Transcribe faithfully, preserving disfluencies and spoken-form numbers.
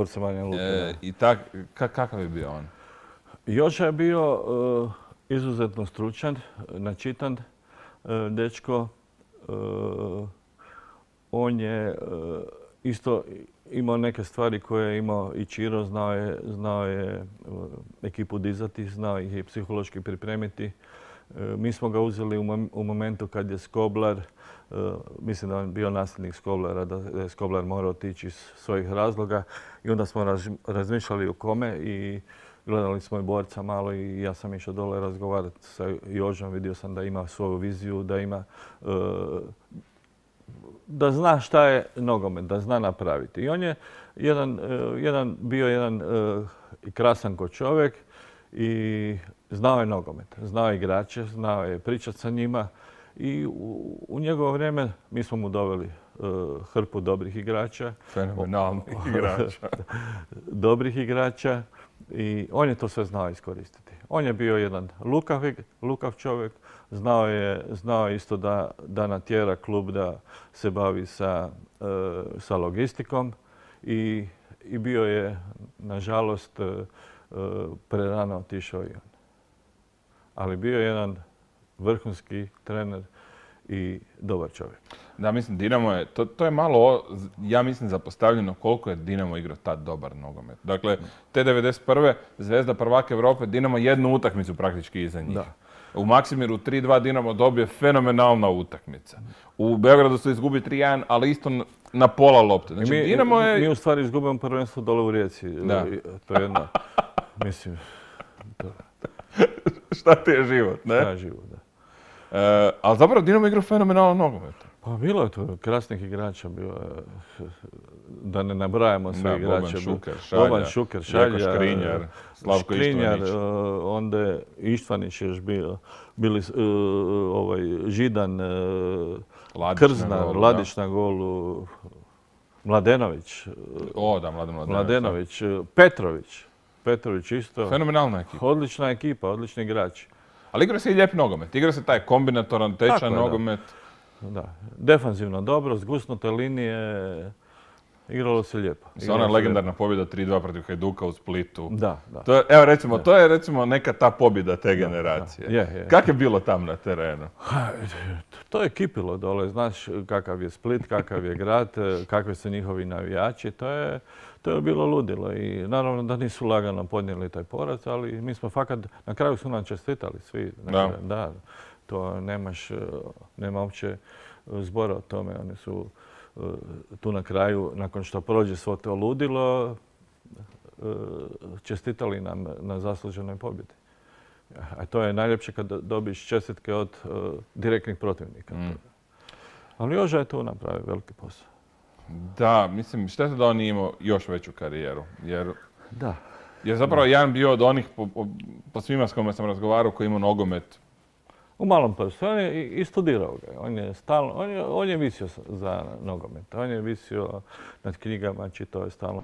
borca Banja Luke. E, I tak, kakav je bio on? Joža je bio uh, izuzetno stručan, načitan uh, dečko. Uh, on je uh, isto imao neke stvari koje je imao i Čiro, znao je, znao je uh, ekipu dizati, znao ih i psihološki pripremiti. Uh, mi smo ga uzeli u, mom, u momentu kad je Skoblar, uh, mislim da je bio nasljednik Skoblara, da je Skoblar morao otići iz svojih razloga i onda smo raz, razmišljali o kome i gledali smo i borca malo i ja sam išao dole razgovarati sa Jožom, vidio sam da ima svoju viziju, da ima uh, da zna šta je nogomet, da zna napraviti. I on je jedan, uh, jedan, bio jedan uh, i krasan ko čovjek i znao je nogomet, znao je igrače, znao je pričati sa njima i u, u njegovo vrijeme mi smo mu doveli uh, hrpu dobrih igrača. Fenomenalnih igrača. dobrih igrača. I on je to sve znao iskoristiti. On je bio jedan lukav, lukav čovjek, znao je, znao je isto da, da natjera klub da se bavi sa, uh, sa logistikom i, i bio je, nažalost, uh, prerano otišao i on. Ali bio je jedan vrhunski trener i dobar čovjek. Da, mislim, Dinamo je, to, to je malo, ja mislim, zapostavljeno koliko je Dinamo igrao tad dobar nogomet. Dakle, te devedeset prve Zvezda prvak Europe, Dinamo jednu utakmicu praktički iza njih. Da. U Maksimiru tri dva Dinamo dobije fenomenalna utakmica. U Beogradu se izgubi tri jedan, ali isto na pola lopte. Znači, mi, Dinamo je... mi u stvari izgubimo prvenstvo dole u Rijeci. Da. To je jedna, mislim... To... Šta ti je život, ne? Šta je život, da. E, ali zapravo Dinamo igra fenomenalno nogomet. Pa bilo je tu krasnih igrača, bilo je, da ne nabrajamo sve da, igrače. Boban Šuker, Šalja, Boban Šuker, Šalja, Škrinjar, Slavko Škrinjar, Ištvanić. Uh, onda je Ištvanić još bio, bili uh, ovaj, Židan, uh, Ladić Krznar, na golu, Ladić na golu, Mladenović. O, da, Mladen Mladenović. Mladenović, Petrović. Petrović isto. Fenomenalna ekipa. Odlična ekipa, odlični igrači. Ali igra se i lijep nogomet. Igra se taj kombinatoran, tečan nogomet. Da. Defanzivno dobro, zgusnute linije, igralo se lijepo. Sa ona legendarna pobjeda tri dva protiv Hajduka u Splitu. Da, da. To je, evo recimo, da. To je recimo neka ta pobjeda te generacije. Da, da. Je, je. Kako je bilo tam na terenu? To je kipilo dole, znaš kakav je Split, kakav je grad, kakvi su njihovi navijači, to je, to je bilo ludilo i naravno da nisu lagano podnijeli taj poraz, ali mi smo fakat, na kraju su nam čestitali svi. Da. Da, to nemaš, nema uopće zbora o tome, oni su tu na kraju, nakon što prođe svo to ludilo, čestitali nam na zasluženoj pobjedi. A to je najljepše kad dobiš čestitke od uh, direktnih protivnika. Mm. Ali Joža je tu napravio veliki posao. Da, mislim, šteta da on nije imao još veću karijeru. Jer, da. jer zapravo da. Jan bio od onih, po, po, po svima s kojima sam razgovarao, koji imao nogomet. U malom prstu. On je i studirao ga. On je, stalno, on je, on je visio za nogomet. On je visio nad knjigama, čitao je stalno.